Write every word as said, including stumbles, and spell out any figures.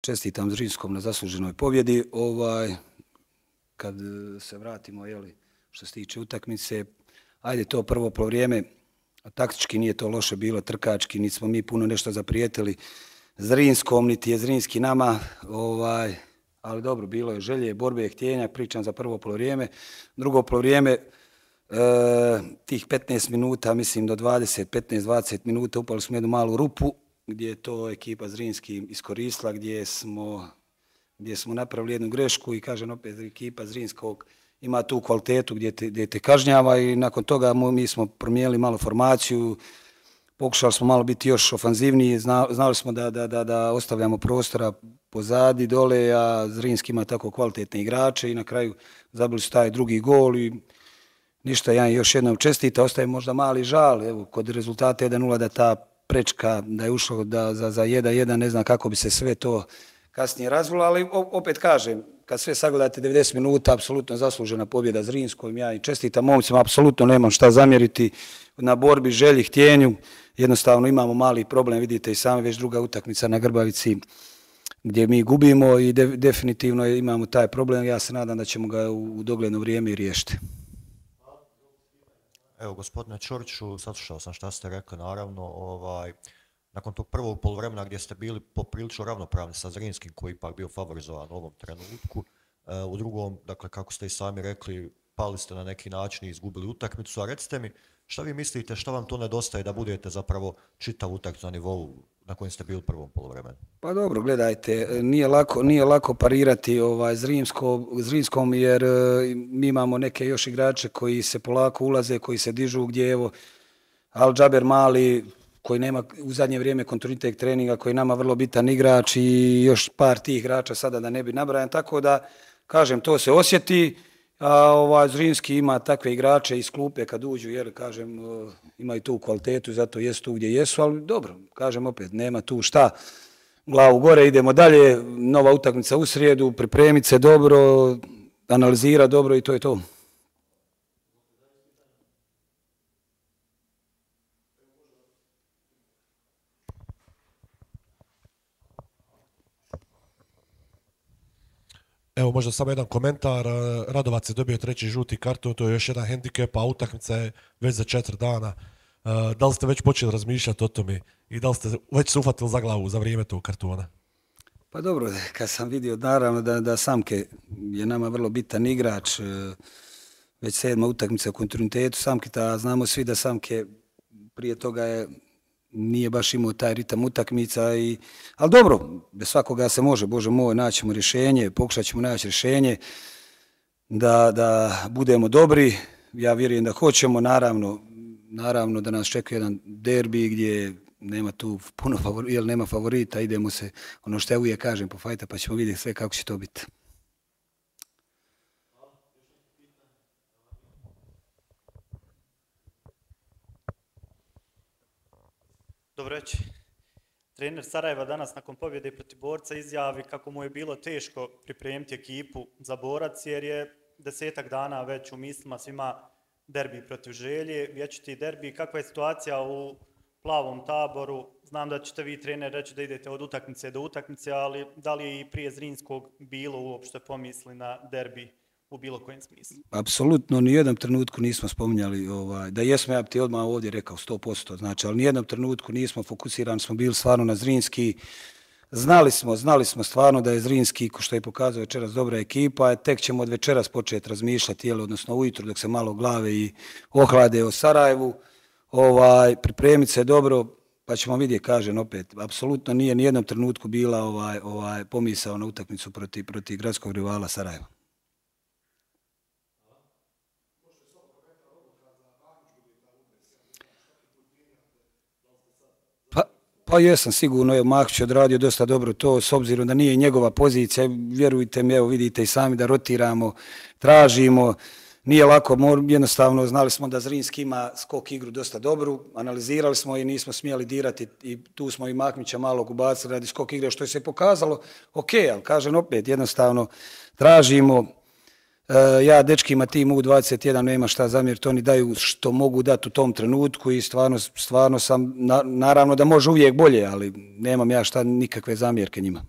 čestitam Zrinskom na zasluženoj pobjedi. Ovaj, kad se vratimo, jeli, što se tiče utakmice, ajde to prvo polovreme, taktički nije to loše bilo, trkački, niti smo mi puno nešto zaprijetili Zrinskom, niti je Zrinski nama, ovaj, ali dobro, bilo je želje, borbe, htjenja, pričam za prvo polovrijeme. Drugo polovrijeme, e, tih petnaest minuta, mislim do dvadeset, petnaest dvadeset minuta, upali smo jednu malu rupu, gdje je to ekipa Zrinski iskoristila, gdje smo, gdje smo napravili jednu grešku i kažem opet ekipa Zrinskog ima tu kvalitetu gdje te, gdje te kažnjava i nakon toga mi smo promijenili malo formaciju, pokušali smo malo biti još ofanzivniji, zna, znali smo da, da, da, da ostavljamo prostora pozadi, dole, a Zrinski ima tako kvalitetne igrače i na kraju zabili su taj drugi gol i ništa, ja još jednom čestita, ostaje možda mali žal, evo, kod rezultata jedan nula da ta prečka, da je ušlo da, za, za jedan jedan, ne znam kako bi se sve to kasnije razvilo, ali opet kažem, kad sve sagledate devedeset minuta, apsolutno zaslužena pobjeda Zrinskom, ja i čestitam momcima, apsolutno nemam šta zamjeriti na borbi, želji, htjenju, jednostavno imamo mali problem, vidite i sami već druga utakmica na Grbavici gdje mi gubimo i de, definitivno imamo taj problem, ja se nadam da ćemo ga u, u dogledno vrijeme i riješiti. Evo, gospodine Ćoriću, saslušao sam šta ste rekli, naravno, ovaj, nakon tog prvog poluvremena gdje ste bili poprilično ravnopravni sa Zrinskim, koji je ipak bio favorizovan u ovom trenutku, u drugom, dakle, kako ste i sami rekli, pali ste na neki način i izgubili utakmicu, a recite mi, šta vi mislite, šta vam to nedostaje da budete zapravo čitav utakmicu na nivou na kojem ste bili u prvom poluvremenu? Pa dobro, gledajte, nije lako, nije lako parirati ovaj Zrinsko, Zrinskom jer mi imamo neke još igrače koji se polako ulaze, koji se dižu, gdje evo Al Džaber Mali, koji nema u zadnje vrijeme kontinuitet treninga, koji je nama vrlo bitan igrač i još par tih igrača sada da ne bi nabrajan, tako da, kažem, to se osjeti, a ovaj Zrinski ima takve igrače iz klupe kad uđu, jer, kažem, imaju tu kvalitetu, zato jesu tu gdje jesu, ali dobro, kažem opet, nema tu šta, glavu gore, idemo dalje, nova utakmica u srijedu, pripremiti se dobro, analizira dobro i to je to. Evo možda samo jedan komentar, Radovac je dobio treći žuti karton, to je još jedan hendikep, a utakmica je već za četiri dana. Da li ste već počeli razmišljati o tome i da li ste već se uhvatili za glavu za vrijeme tog kartona? Pa dobro, kad sam vidio naravno da, da Samke je nama vrlo bitan igrač, već sedma utakmica u kontinuitetu Samketa, znamo svi da Samke prije toga je nije baš imao taj ritam utakmica, i, ali dobro, bez svakoga se može, Bože moj, naćemo rješenje, pokušat ćemo naći rješenje da, da budemo dobri, ja vjerujem da hoćemo, naravno, naravno da nas čeka jedan derbi gdje nema tu puno favorita, jer nema favorita, idemo se, ono što ja uvijek kažem, po fajta, pa ćemo vidjeti sve kako će to biti. Dobro reći. Trener Sarajeva danas nakon pobjede protiv Borca izjavi kako mu je bilo teško pripremiti ekipu za Borac jer je desetak dana već u mislima svima derbi protiv Želje, vječiti derbi. Kakva je situacija u plavom taboru? Znam da ćete vi, trener, reći da idete od utakmice do utakmice, ali da li je i prije Zrinskog bilo uopšte pomisli na derbi u bilo kojem smislu? Apsolutno, ni jednom trenutku nismo spominjali, ovaj, da jesmo, ja bi ti odmah ovdje rekao sto posto, znači, ali ni jednom trenutku nismo fokusirani, smo bili stvarno na Zrinski. Znali smo, znali smo stvarno da je Zrinski, ko što je pokazao večeras, dobra ekipa, tek ćemo od večeras početi razmišljati, jel, odnosno ujutro dok se malo glave i ohlade o Sarajevu, ovaj, pripremiti se dobro, pa ćemo vidjeti, kažem opet, apsolutno nije ni jednom trenutku bila ovaj, ovaj, pomisao na utakmicu protiv, protiv gradskog rivala Sarajeva. Pa jesam sigurno, evo Mahmić je odradio dosta dobro to, s obzirom da nije njegova pozicija, vjerujte mi, evo vidite i sami da rotiramo, tražimo, nije lako, jednostavno znali smo da Zrinski ima skok igru dosta dobru, analizirali smo i nismo smjeli dirati i tu smo i Mahmića malo ubacili radi skok igre, što je se pokazalo, ok, ali kažem opet, jednostavno tražimo, ja dečkima tim U dvadeset jedan nema šta zamjeriti, oni daju što mogu dati u tom trenutku i stvarno, stvarno sam, naravno da može uvijek bolje, ali nemam ja šta nikakve zamjerke njima.